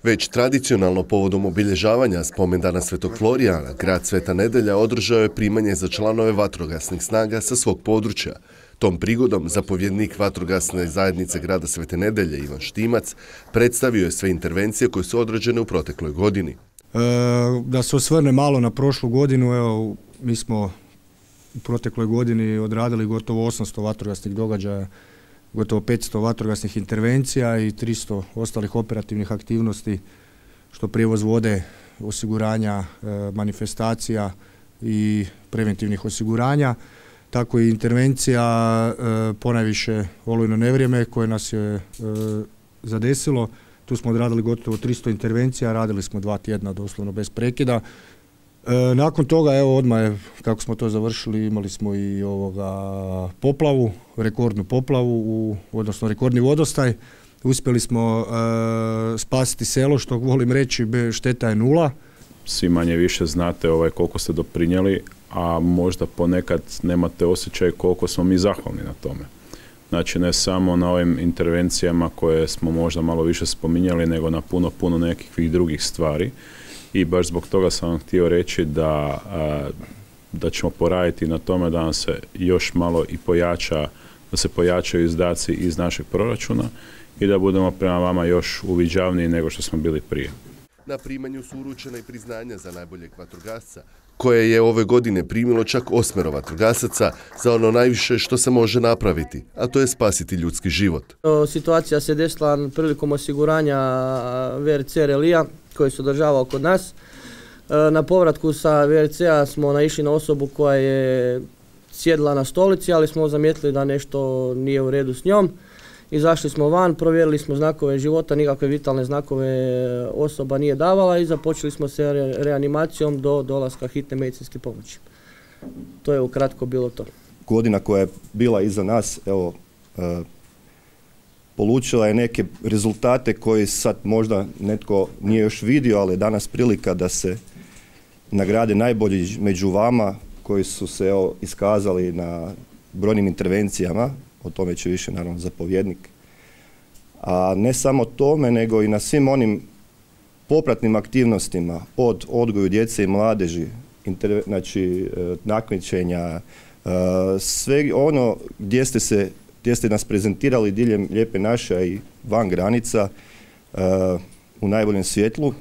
Već tradicionalno povodom obilježavanja spomendana Svetog Florijana, grad Sveta Nedelja održao je primanje za članove vatrogasnih snaga sa svog područja. Tom prigodom zapovjednik vatrogasne zajednice grada Svete Nedelje Ivan Štimac predstavio je sve intervencije koje su odrađene u protekloj godini. Da se osvrne malo na prošlu godinu, evo, mi smo u protekloj godini odradili gotovo 800 vatrogasnih događaja, gotovo 500 vatrogasnih intervencija i 300 ostalih operativnih aktivnosti, što prijevoz vode, osiguranja, manifestacija i preventivnih osiguranja. Tako i intervencija ponajviše olujno nevrijeme koje nas je zadesilo. Tu smo odradili gotovo 300 intervencija, radili smo 2 tjedna doslovno bez prekida. Nakon toga, evo odmah kako smo to završili, imali smo i poplavu, rekordnu poplavu, odnosno rekordni vodostaj. Uspjeli smo spasiti selo, što volim reći, šteta je 0. Svi manje više znate koliko ste doprinijeli, a možda ponekad nemate osjećaj koliko smo mi zahvalni na tome. Znači ne samo na ovim intervencijama koje smo možda malo više spominjali, nego na puno nekih drugih stvari. I baš zbog toga sam vam htio reći da ćemo poraditi na tome da nam se još malo i da se pojačaju izdaci iz našeg proračuna i da budemo prema vama još uviđavniji nego što smo bili prije. Na primanju su uručena i priznanja za najboljeg vatrogasca, koje je ove godine primilo čak 8 vatrogasaca za ono najviše što se može napraviti, a to je spasiti ljudski život. Situacija se desila prilikom osiguranja VRC relija koji se održavao kod nas. Na povratku sa VRC-a smo naišli na osobu koja je sjedila na stolici, ali smo zamijetili da nešto nije u redu s njom. Izašli smo van, provjerili smo znakove života, nikakve vitalne znakove osoba nije davala i započeli smo se reanimacijom do dolaska hitne medicinske pomoći. To je ukratko bilo to. Godina koja je bila iza nas, evo, polučila je neke rezultate koji sad možda netko nije još vidio, ali je danas prilika da se nagrade najbolji među vama koji su se iskazali na brojnim intervencijama. O tome će više naravno zapovjednik. A ne samo tome, nego i na svim onim popratnim aktivnostima od odgoju djece i mladeži, znači takmičenja, sve ono gdje ste nas prezentirali diljem Lijepe naše i van granica u najboljem svjetlu.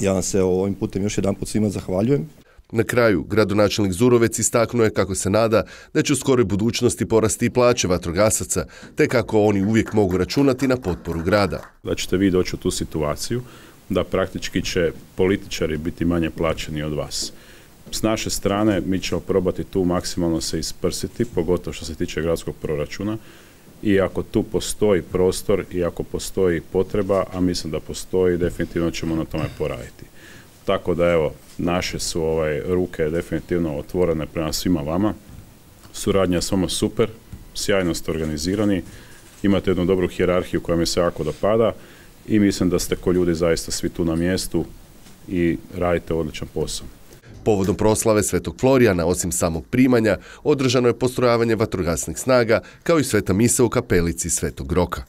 Ja vam se ovim putem još jedanput svima zahvaljujem. Na kraju, gradonačelnik Zurovec istaknuo je kako se nada da će u skoroj budućnosti porasti i plaće vatrogasaca, te kako oni uvijek mogu računati na potporu grada. Da ćete vi doći u tu situaciju da praktički će političari biti manje plaćeni od vas. S naše strane mi ćemo probati tu maksimalno se isprsiti, pogotovo što se tiče gradskog proračuna. I ako tu postoji prostor i ako postoji potreba, a mislim da postoji, definitivno ćemo na tome poraditi. Tako da evo, naše su ruke definitivno otvorene prema svima vama. Suradnja s vama super, sjajno ste organizirani, imate jednu dobru hijerarhiju koja mi se jako dopada i mislim da ste ko ljudi zaista svi tu na mjestu i radite odličan posao. Povodom proslave Svetog Florijana, osim samog primanja, održano je postrojavanje vatrogasnih snaga, kao i sveta misa u kapelici Svetog Roka.